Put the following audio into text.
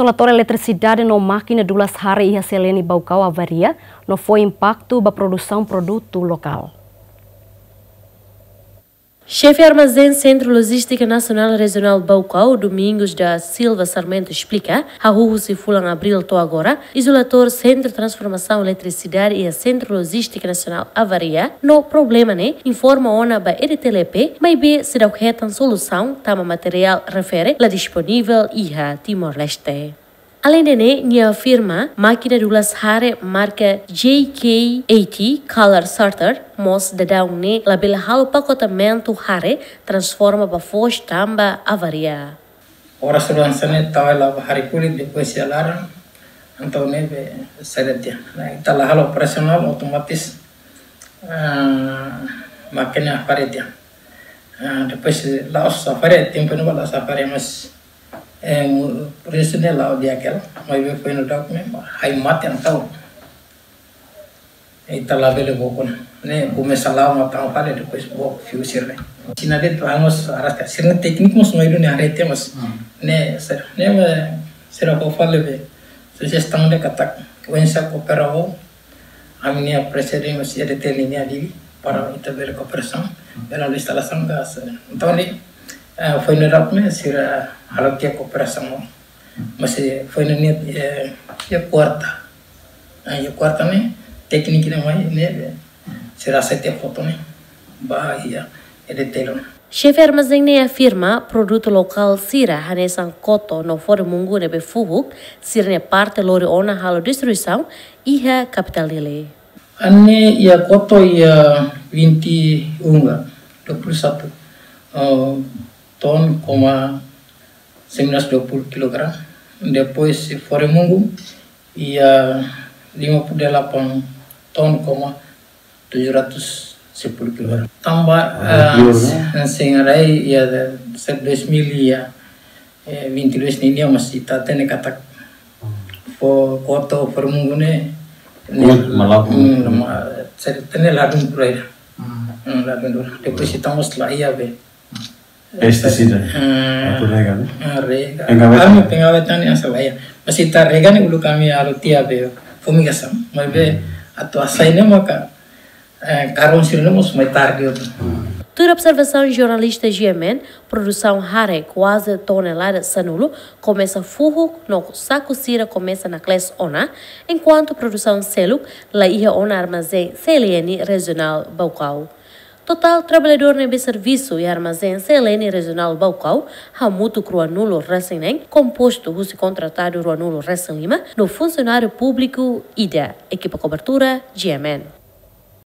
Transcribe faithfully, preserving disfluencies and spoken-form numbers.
Izolatór eletrisidade no mákina dulas hare iha CLN Baucau avaria, no fó impaktu ba produsaun produtu lokál. Xefe Armazén Sentru Lojístika Nasionál Rejionál Baucau, Domingos da Silva Sarmento, esplika, hahú husi fulan Abríl to'o agora, izolatór Sentru Transformasaun Eletrisidade iha Sentru Lojístika Nasionál avaria, no problema ne'e informa ona ba EDTL, maibé seidauk hetan solusaun tanba materiál refere la disponivel iha Timor-Leste. Aleinde ne'e, nia afirma, mákina dulas hare marka J K eighty Color Sorter mós daudaun ne'e labele halo pakotamentu hare transforma ba foos tanba avaria. Oras lansa ne'e tau hela ba hare kulit, depois iha laran, entaun ne'ebé seret tiha. Ne'e ita la halo operasionál, otomatis, ah, mákina hare tiha. Ah, depois la'ós hare, tempu ne'ebá la'ós hare, mas, eh, mu-, por isu ne'e la'o di'ak hela, maibé foin daudauk ne'e, ai mate entaun. Ita labele bokon. Ne'e komesa la'o matan fali, depois bok fiu sira ne'e. Sina de'it anu mós araska. Sira-nia tékniku mós mai duni hare tiha mós. Hmm. Ne'e sira, ne'e, sira fó fali be. Sujestaun de'it katak, oinsá koopera ho ami-nia parseria mós EDTL nian, Dili, para ita bele kooperasaun, bele halo instalasaun gás. Entaun ne'e, eh, foin daudauk ne'e sira halo tiha kooperasaun. Mas, eh, foin ne'e, eh, iha kuarta. Ah, iha kuarta ne'e, tékniku ne'e mai ne'e, sira hasai tiha foto ne'e ba iha EDTL. Xefe armazén ne'e afirma, produtu lokál sira hanesan koto no fore-mungu ne'ebé fuhuk, sira-nia parte lori ona halo distribuisaun iha kapitál Dili. Ne'e iha koto iha vinte e um, dua puluh satu, eh, ton koma sembilan ratus dua puluh kilogram. Depois fore-mungu iha lima puluh delapan ton koma tujuh ratus sepuluh kilogram. Tanba, ah, eh, kleur, ne'e? Sing rai iha, sejak dua ribu, iha, eh, vinte e dois nian, ne'e mós ita hatene katak, hmm, fó koto fore-mungu ne'e, ne'e, kuat, malah, hmm, hmm, lama, sira hatene ladún tuir. Hmm. Hmm, ladún tuir. Depois ita mós la iha be pestisida. Hmm. Atu rega, ne'e? Ah, rega. Pengawetan. Ami pengawetan ne'e sala iha. Mas ita rega ne'e uluk ami halo tiha be fumigasaun. Maibé, hmm, atu hasai ne'e maka, eh, karun sira ne'e mós mai tarde outro. Hmm. Tuir observasaun jornalista GMN, produsaun hare kuaze tonelada sanulu komesa fuhuk no saku sira komesa naklees ona, enkuantu produsaun seluk la iha ona armazén CLN Rejionál Baucau. Totál traballadór ne'ebé servisu iha armazén CLN Rejionál Baucau hamutuk ruanulu-resin-neen, kompostu husi kontratadu ruanulu-resin-lima no funsionáriu públiku ida. Ekipa kobertura, GMN.